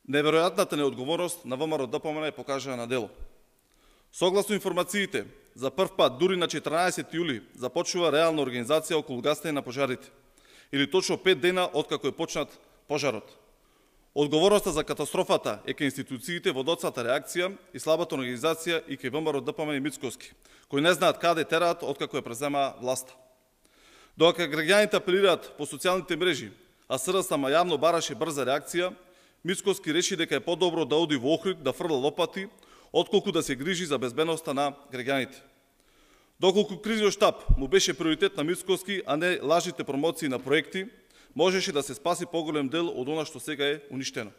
Неверојатната неодговорност на ВМРО ДПМН е покажана на дело. Согласно информациите, за прв пат дури на 14 јули започнува реална организација околу гасење на пожарите, или точно 5 дена откако е почнат пожарот. Одговорноста за катастрофата е кај институциите во доцната реакција и слабата организација и кај ВМРО ДПМН и Мицкоски, кои не знаат каде тераат откако ја презема власта. Додека граѓаните апелираат по социјалните мрежи, а СРСМ јавно бараше брза реакција, Мицкоски реши дека е подобро да оди во Охрид да фрла лопати, отколку да се грижи за безбедноста на граѓаните. Доколку кризниот штаб му беше приоритет на Мицкоски, а не лажните промоции на проекти, можеше да се спаси поголем дел од она што сега е уништено.